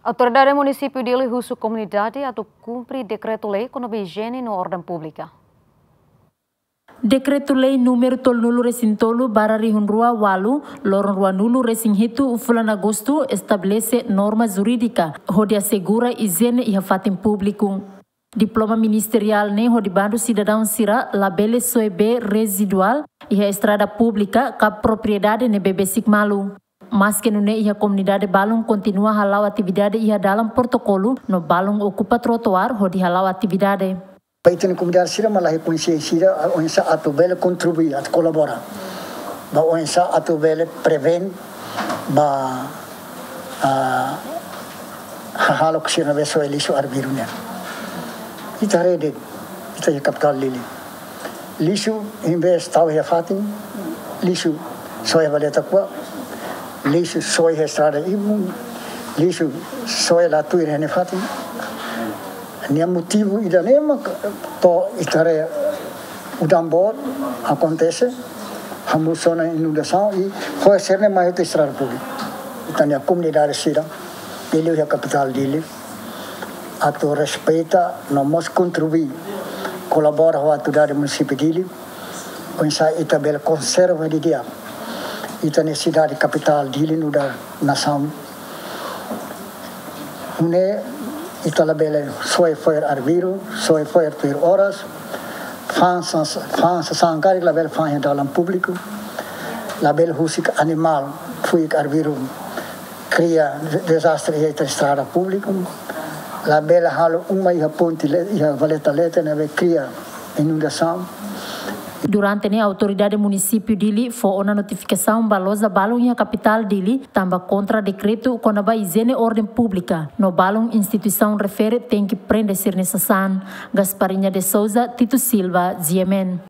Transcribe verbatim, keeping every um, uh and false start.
Autoridade Munisípiu Dili husu komunidade atu kumpre dekretu-lei kona-ba ijiene no orden públika. Dekretu-lei númeru tolunulu resin tolu barra rihun rua ualu, loron ruanulu resin hitu fulan Agostu estabelese norma jurídika hodi asegura ijiene iha fatin públiku. Diploma ministeriál ne'e hodi bandu sidadaun sira labele soe bee reziduál iha estrada públika ka propriedade ne'ebé besik malu. Maske nune'e, iha komunidade balun kontinua hala'o atividade iha dalan protokolu no balun okupa trotoar hodi hala'o atividade. Ba ita-nia komunidade sira mak la iha konsiénsia sira, oinsá atu bele kontribui, atu kolabora. Ba oinsá atu bele prevene ba, ah, hahalok sira ne'ebé soe lixu arbiru nian. Ita haree de'it, ita iha kapitál Dili. Lixu, envezde tau iha fatin, lixu soe iha valeta kua, lixu soe iha estrada ibun, lixu soe la tuir iha nia fatin. Nia motivu ida-ne'e mak to'o ita haree udan boot akontese, hamosu ona inundasaun i fo'er sira-ne'e mai hotu estrada públika. Ita-nia komunidade sira, Dili iha kapitál Dili, atu respeita no mós kontribui, kolabora ho autoridade munisípiu Dili, oinsá ita bele konserva didi'ak ita-nia sidade kapitál Dili nu'udar nasaun. Nune'e ita labele soe fo'er arbiru, soe fo'er tuir oras, fa'an sas-, fa'an sasán karik labele fa'an iha dalan públiku, labele husik animál, fuik arbiru, kria dezastre iha ita estrada públiku, labele halo uma iha ponte le-, iha valeta leten ne'ebé kria inundasaun. Durante ne'e autoridade munisípiu Dili fó ona notifikasaun ba loja balun iha kapitál Dili, tanba kontra dekretu kona-ba ijiene orden públika, no balun instituisaun refere tenke prende sira-nia sasán. Gasparinha de Souza, Tito Silva, G M N.